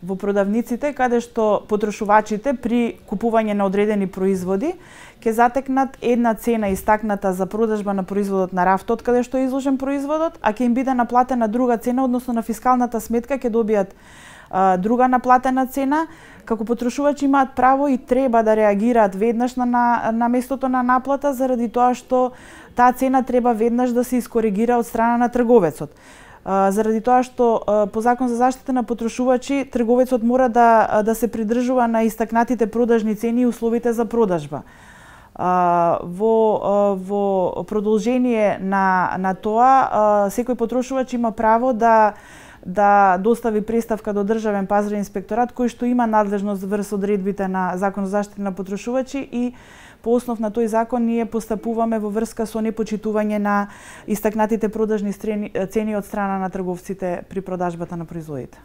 во продавниците каде што потрошувачите при купување на одредени производи ќе затекнат една цена истакната за продажба на производот на рафтот каде што е изложен производот, а ќе им биде наплатена друга цена, односно на фискалната сметка ќе добијат друга наплатена цена. Како потрошувачи имаат право и треба да реагираат веднаш на местото на наплата, заради тоа што таа цена треба веднаш да се искоригира од страна на трговецот. Заради тоа што по Закон за заштита на потрошувачи трговецот мора да се придржува на истакнатите продажни цени и условите за продажба. Во продолжение на тоа, секој потрошувач има право да достави преставка до Државен пазарен инспекторат кој што има надлежност врз одредбите на Закон за заштита на потрошувачи и по основ на тој закон ние постапуваме во врска со непочитување на истакнатите продажни цени од страна на трговците при продажбата на производите.